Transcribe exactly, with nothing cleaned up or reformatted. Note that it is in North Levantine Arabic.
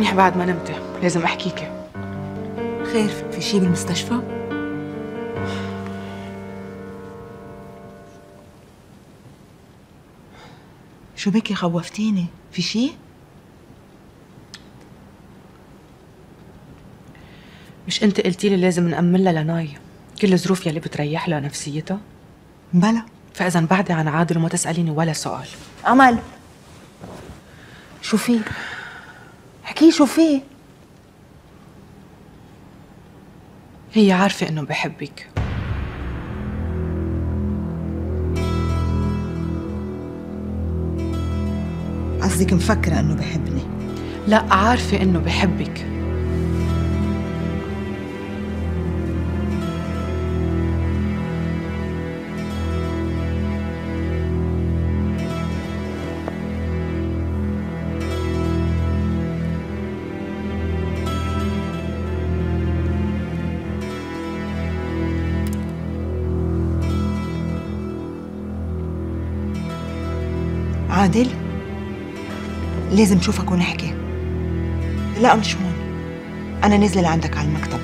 منيح بعد ما نمتي، لازم احكيكي. خير، في شي بالمستشفى؟ شو بكي خوفتيني؟ في شي؟ مش انت قلتي لي لازم نأمن لها لناي كل الظروف يلي بتريح لها نفسيتها؟ بلا. فإذا بعدي عن عادل وما تسأليني ولا سؤال. أمل، شو في؟ احكي شو في؟ هي عارفة إنه بحبك. قصدك مفكرة إنه بحبني؟ لا، عارفة إنه بحبك. عادل، لازم نشوفك ونحكي. لا مش هون، أنا نازلة لعندك على المكتب.